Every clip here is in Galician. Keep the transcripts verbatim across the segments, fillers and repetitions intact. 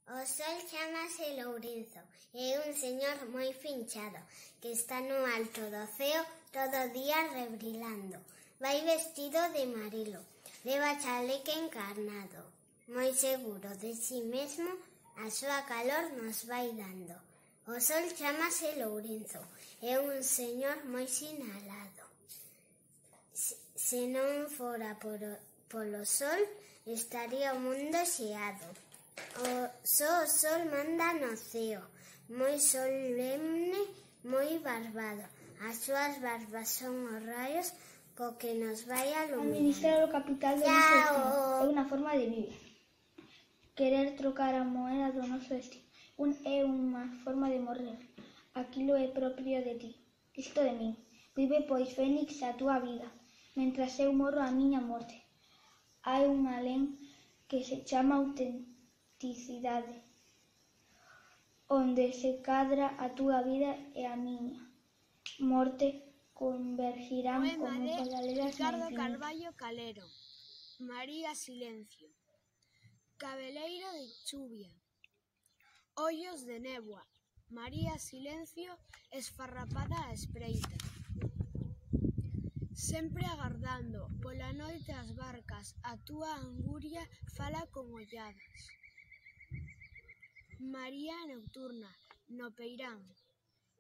O sol chámase Lourenzo e é un señor moi finchado que está no alto do ceo todo o día rebrilando. Vai vestido de amarelo, leva chaleque encarnado. Moi seguro de si mesmo, a súa calor nos vai dando. O sol chámase Lourenzo, é un señor moi sinalado. Se non fora por, polo sol, estaría o mundo xeado. O só o sol manda no ceo, moi solemne, moi barbado. As súas barbas son os raios co que nos vai aluminar. Administrar o capital do noso destino é unha forma de viver. Querer trocar a moeda do noso destino un, é unha forma de morrer. Aquilo é propio de ti, isto de min. Vive, pois, Fénix, a túa vida, mentras eu morro a miña morte. Hai un alén que se chama autenticidade, onde se cadra a túa vida e a miña morte convergirán como paralelas no Ricardo infinito. Carballo Calero, María Silencio, Cabeleiro de chuvia, ollos de néboa, María Silencio esfarrapada á espreita. Sempre agardando pola noite as barcas, a túa anguria fala con olladas. María nocturna, no peirán,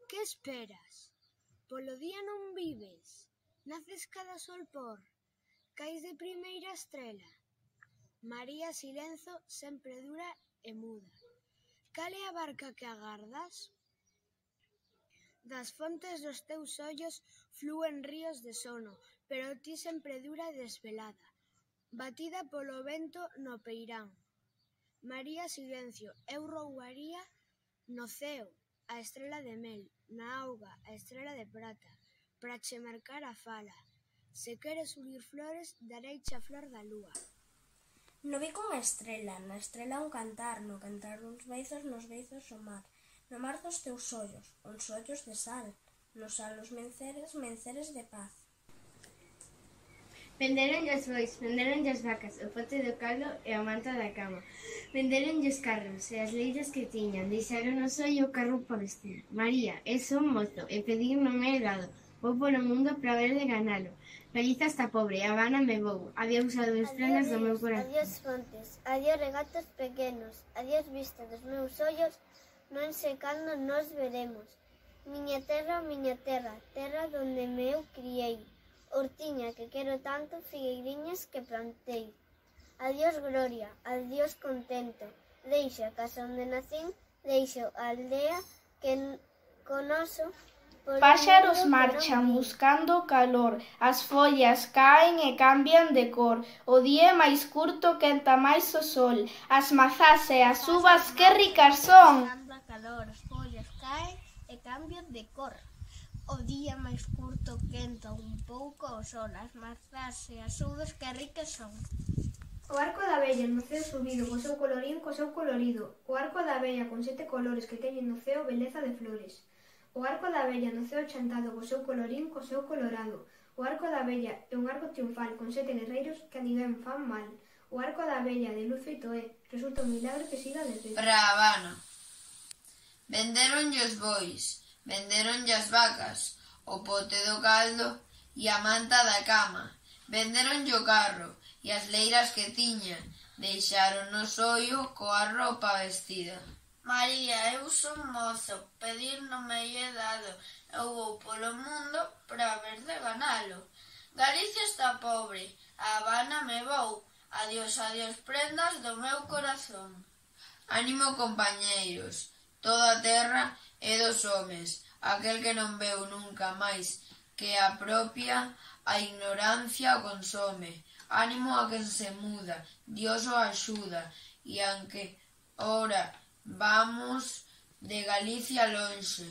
que esperas? Polo día non vives, naces cada sol por, cais de primeira estrela. María Silenzo sempre dura e muda. Cal é a barca que agardas? Das fontes dos teus ollos flúen ríos de sono, pero ti sempre dura e desvelada, batida polo vento no peirán. María Silencio, eu roubaría no ceo a estrela de mel, na auga a estrela de prata, para che marcar a fala. Se queres unir flores, dareiche a flor da lúa. No bico unha estrela, na estrela un cantar, no cantar uns beizos, nos beizos o mar. No mar dos teus ollos, uns ollos de sal, no sal os menceres, menceres de paz. Venderonlle os bois, venderonlle as vacas, o pote do caldo e a manta da cama. Venderonlle os carros e as leiras que tiñan, deixaron o sol e o carro por vestir. María, eu son mozo e pedir non é helado, vou polo mundo para ver de ganalo. Galiza está pobre, a Habana me vou, adiós a dúas planas do meu corazón. Adiós fontes, adiós regatos pequenos, adiós vista dos meus ollos, non sei cando nos veremos. Miña terra, miña terra, terra donde me eu criei, hortiña que quero tanto, figueiriñas que plantei. Adiós gloria, adiós contento, deixo a casa onde nacín, deixo a aldea que conoso. Páxaros marchan buscando calor, as follas caen e cambian de cor, o día é máis curto, quenta máis o sol, as mazás e as uvas que ricas son. Buscando calor, as follas caen e cambian de cor. O día máis curto quenta un pouco o sol, as mazás e as uvas que ricas son. O arco da abella no ceo subido, co seu colorín, co seu colorido. O arco da abella con sete colores que teñen no ceo beleza de flores. O arco da abella no ceo chantado, co seu colorín, co seu colorado. O arco da abella é un arco triunfal con sete guerreiros que a ninguén fan mal. O arco da abella de luz feito é, resulta un milagre que siga de pé. Para a Habana. Venderonlle os bois, venderonlle as vacas, o pote do caldo e a manta da cama. Venderonlle o carro e as leiras que tiña, deixaron no sollo coa roupa vestida. María, eu son mozo, pedir non me lle dado, eu vou polo mundo para ver de ganalo. Galicia está pobre, a Habana me vou, adiós, adiós prendas do meu corazón. Ánimo compañeiros, toda a terra é dos homes, aquel que non veu nunca máis que a propia a ignorancia o consome. Ánimo a quen se muda, Dios o axuda, e aunque ora vamos de Galicia lonxe,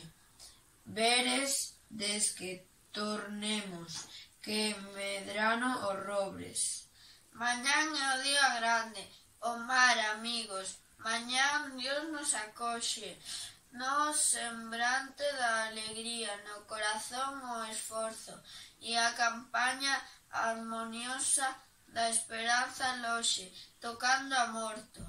veres des que tornemos, que medrano os robres. Mañán é o día grande, o mar, amigos, mañán Dios nos acoxe, no sembrante da alegría, no corazón o esforzo, e a campaña armoniosa da esperanza loxe, tocando a morto.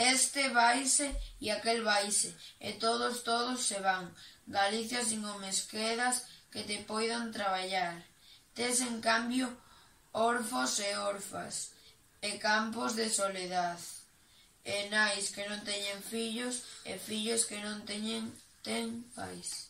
Este vaise e aquel vaise, e todos, todos se van. Galicia sin homes quedas que te poidan traballar. Tes, en cambio, orfos e orfas, e campos de soledad, e nais que non teñen fillos, e fillos que non teñen ten pais.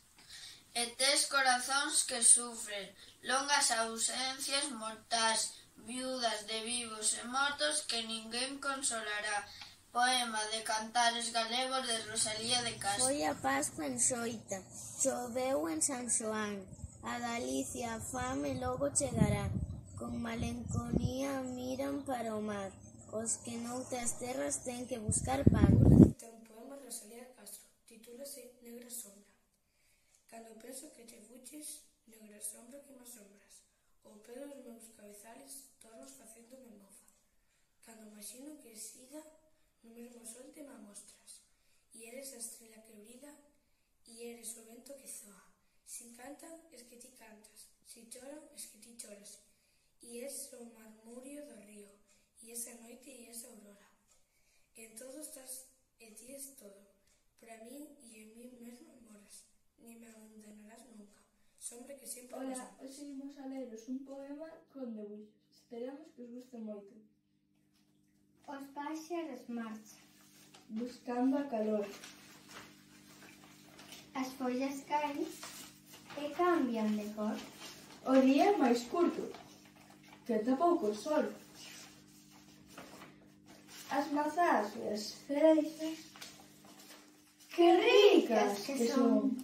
E tes corazóns que sufren, longas ausencias mortais, viudas de vivos e mortos que ninguén consolará. Poema de Cantares Galegos de Rosalía de Castro. Foi a Pascua en Xoita, choveu en San Xoán, a Galicia a fame logo chegará, con malenconía miran para o mar, os que noutras terras ten que buscar pan. Ten un poema de Rosalía de Castro, titúlase Negra sombra. Cando penso que te fuches, negra sombra que me asombras, o pé dos meus cabezales tornos facéndome mofa. Cando imagino que siga no mesmo sol te me amostras, e eres a estrela que brilla, e eres o vento que zoa. Si cantan, es que ti cantas, si choran, es que ti choras, e es o marmurio do río, e esa noite e esa aurora. En todo estás e ti es todo, para mí e en mí mesmo moras, ni me abandonarás nunca, sombra que sempre Ola, pasa. hoxe imos a leros un poema con debuxos. Esperamos que os guste moito. Os páxaros marchan, Buscando a calor. as follas caen e cambian de cor. O día é máis curto, queda pouco sol. As mazás e as freixas, que ricas que son.